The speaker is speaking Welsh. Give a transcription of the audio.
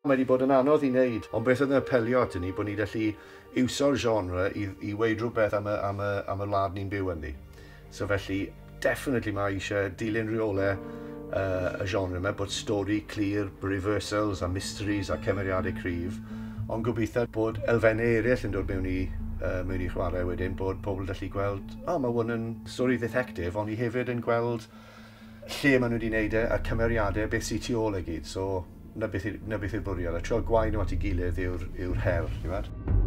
Mae wedi bod yn anodd i wneud, ond beth oedd yn apelio at ni, bod ni gallu iwsio'r genre i weud rhywbeth am y wlad ni'n byw ynddi. So felly, definitely mae eisiau dilyn rheolau y genre yma, bod stori clir, reversals a mysteries a cymeriadau cryf, ond gobeithio bod elfennau eraill yn dod mewn i chwarae wedyn, bod pobl gallu gweld, o, oh, mae hwn yn stori detective, ond i hefyd yn gweld lle maen nhw wedi gwneud e, a cymeriadau, beth sy'n tu ôl e gyd. So, na beth yw'r bwriad. A trio gwau nhw at ei gilydd yw'r her, ti'n gwybod?